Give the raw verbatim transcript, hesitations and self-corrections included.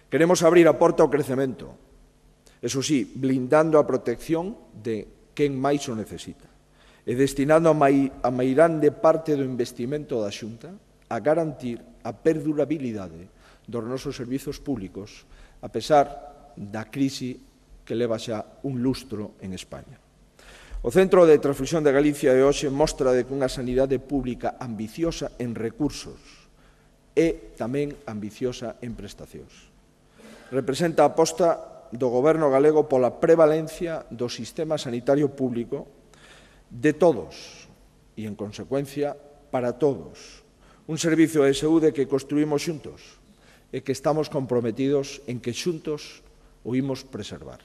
Queremos abrir a porta ao crecemento, eso sí, blindando a protección de quen máis o necesita e destinando a meirande parte do investimento da Xunta a garantir a perdurabilidade dos nosos servizos públicos, a pesar da crise que leva xa un lustro en España. O Centro de Transfusión de Galicia de hoxe mostra de que unha sanidade pública ambiciosa en recursos e tamén ambiciosa en prestacións. Representa a aposta do Goberno galego pola prevalencia do sistema sanitario público de todos e, en consecuencia, para todos. Un servizo de saúde que construímos xuntos e que estamos comprometidos en que xuntos o imos preservar.